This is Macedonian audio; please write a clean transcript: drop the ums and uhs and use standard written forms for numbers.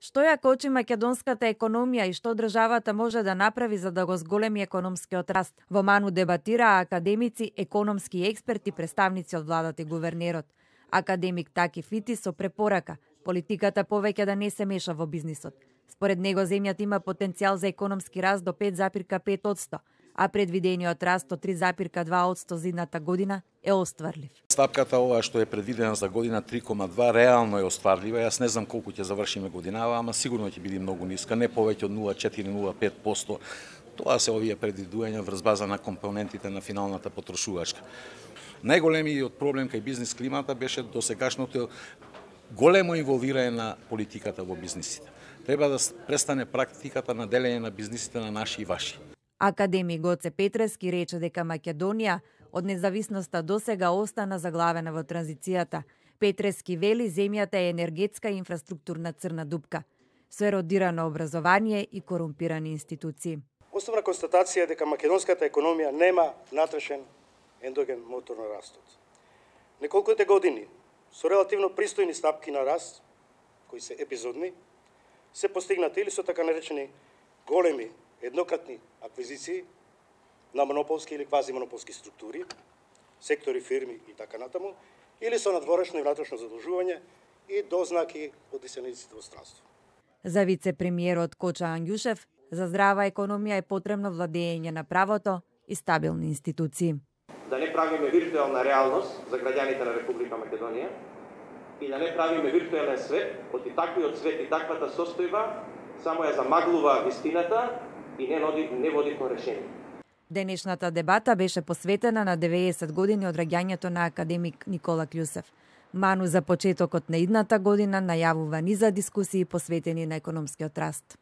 Што ја кочи македонската економија и што државата може да направи за да го зголеми економскиот раст? Во Ману дебатираа академици, економски експерти, представници од владата и гувернерот. Академик Таки Фити со препорака политиката повеќе да не се меша во бизнисот. Според него земјата има потенцијал за економски раст до 5,5%, а предвидениот раст од 3,2% за идната година е остварлив. Стапката ова што е предвидена за година 3,2 реално е остварлива. Јас не знам колку ќе завршиме годинава, ама сигурно ќе биде многу ниска, не повеќе од 0,4-0,5%. Тоа се овие предвидувања врз база на компонентите на финалната потрошувачка. Најголемиот проблем кај бизнис климата беше досегашното големо инволвирање на политиката во бизнисите. Треба да престане практиката на делење на бизнисите на наши и ваши. Академик Гоце Петрески рече дека Македонија од независноста досега остана заглавена во транзицијата. Петрески вели земјата е енергетска и инфраструктурна црна дупка, со еродирано образование и корумпирани институции. Основна констатација е дека македонската економија нема натрешен ендоген мотор на растот. Неколкуте години со релативно пристојни стапки на раст, кои се епизодни, се постигнати или со така наречени големи еднократни аквизиции на монополски или квазимонополски структури, сектори, фирми и така натаму, или со надворешно и внатрешно задолжување и дознаки од иселениците во странство. За вице-премиерот Коча Ангјушев, за здрава економија е потребно владење на правото и стабилни институции. Да не правиме виртуелна реалност за граѓаните на Република Македонија и да не правиме виртуелен свет, од и таквиот свет и таквата состојба само ја замаглува вистината и не води кон решение. Денешната дебата беше посветена на 90 години од раѓањето на академик Никола Кљусев. Ману за почетокот на идната година најавува низа дискусии посветени на економскиот раст.